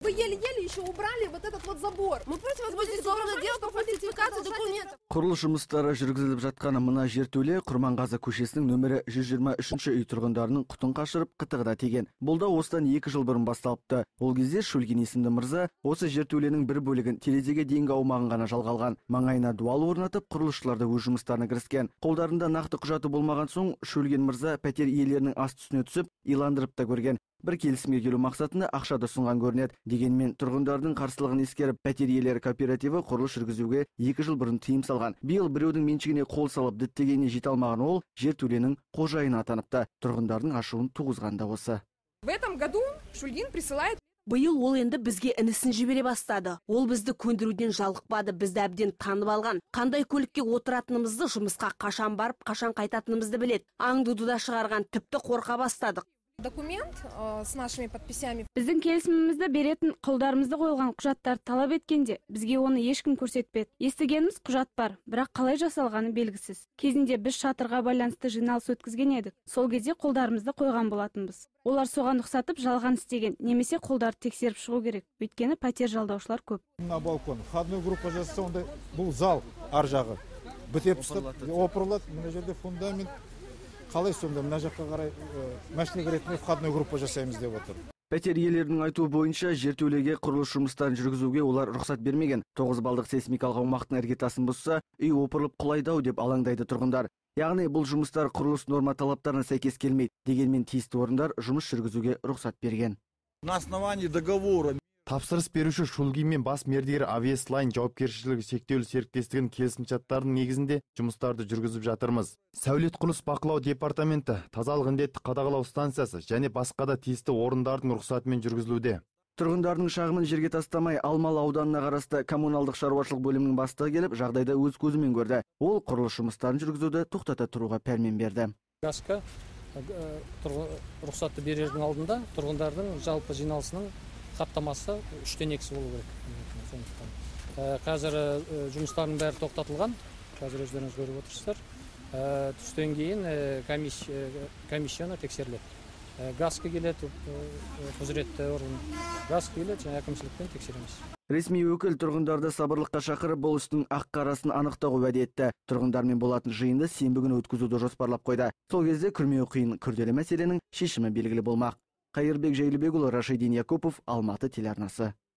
Вы еле-еле еще убрали вот этот вот забор. Мы просим вас будет делать по фальсификации документов. Құрылыс жұмыстары жүргізіліп жатқан мына жертөле Құрманғазы көшесінің нөмірі 123 үй тұрғындарының құтын қашырып қытығына тиген. Бұл да осыдан 2 жыл бұрын басталыпты. Ол кезде Шөлген есімді мырза осы жертөленің бір бөлігін терезеге дейінгі аумағын ғана жалға алған. Маңайына дуал орнатып, құрылысшылар да өз жұмыстарына кіріскен. Қолдарында нақты құжаты болмаған соң Шөлген мырза пәтер иелерінің аст үстіне түсіп, иландырып та көрген. Бір келісімге келу мақсатында ақша да ұсынған көрінеді. Дегенмен тұрғындардың қарсылығын ескеріп, пәтер иелері кооперативі құрылыс жүргізуге 2 жыл бұрын тыйым салған. Биыл біреудің меншігіне қол салып діттегеніне жете алмаған ол жертөленің қожайыны атаныпты. Тұрғындардың ашуын туғызған да осы. В этом году Шульгин присылает. Биыл ол енді бізге інісін жібере бастады. Ол бізді көндіруден жалықпады, бізді әбден танып алған. Қандай көлікке отыратынымызды, жұмысқа қашан барып, қашан қайтатынымызды білет. Аңдуды да шығарған, тіпті қорқа бастадық. Документ с нашими подписями. Біздің келісімімізді беретін қолдарымызды қойылған құжаттар талап еткенде, бізге оны ешкім көрсетпеді. Естігеніміз құжат бар, бірақ қалай жасалғаны белгісіз. Кезінде біз шатырға байланысты жиналыс өткізген едік. Сол кезде қолдарымызды қойған болатынбыз. Олар соған ұқсатып жалған істеген, немесе қолдарды тексеріп шығу керек. Өйткені пәтер жалдаушылар көп. На балкон, входной группа жасаса, онда бұл зал ар жағы. Бітеп опырылады, мына жерде фундамент. Қалай сонда мына жаққа қарай машина ретінде входной группа жасаймыз деп отыр. Пәтер иелерінің айтуы бойынша жертөлеге құрылыс жұмыстарын жүргізуге олар рұқсат бермеген. 9 балдық сейсмикалық аумақтың іргетасын бұзса, үй опырылып құлайды-ау деп алаңдайды тұрғындар. Яғни бұл жұмыстар құрылыс норма талаптарына сәйкес келмейді. Дегенмен тиісті орындар жұмыс жүргізуге рұқсат берген. На основании договора Тапсырыс беруші Шульгин мен бас мердігер Авиаслайн жауапкершілігі шектеулі серіктестігінің келісімшарттарының негізінде жұмыстарды жүргізіп жатырмыз. Сәулет құрылыс бақылау департаменті, тазалық індетті қадағалау станциясы және басқа да тиісті орындардың рұқсатымен жүргізілуде. Тұрғындардың шағымын жерге тастамай Алмалы ауданына қарасты коммуналдық шаруашылық бөлімінің бастығы келіп, жағдайды өз көзімен көрді. Ол құрылыс жұмыстарын жүргізуді тоқтата тұруға пәрмен берді. Газқа рұқсатты берердің алдында тұрғындардың жалпы жиналысының қаптамасы 3/2 болу керек. Қазір жұмыстардың бәрі тоқтатылған. Қазір өздеріңіз көріп отырсыздар. Түстен кейін комиссияны тексеріледі. Газқа келеді, құзыретті орган. Газқа келеді, және әкімшілікпен тексереміз. Ресми өкіл тұрғындарды сабырлыққа шақырып, бұл істің ақ-қарасын анықтауға уәде етті. Тұрғындармен болатын жиынды сенбі күні өткізуді жоспарлап қойды. Сол кезде күрмеуі қиын күрделі мәселенің шешімі белгілі болмақ. Қайырбек Жайлыбекұлы, Рашидин Якупов, Алматы телеарнасы.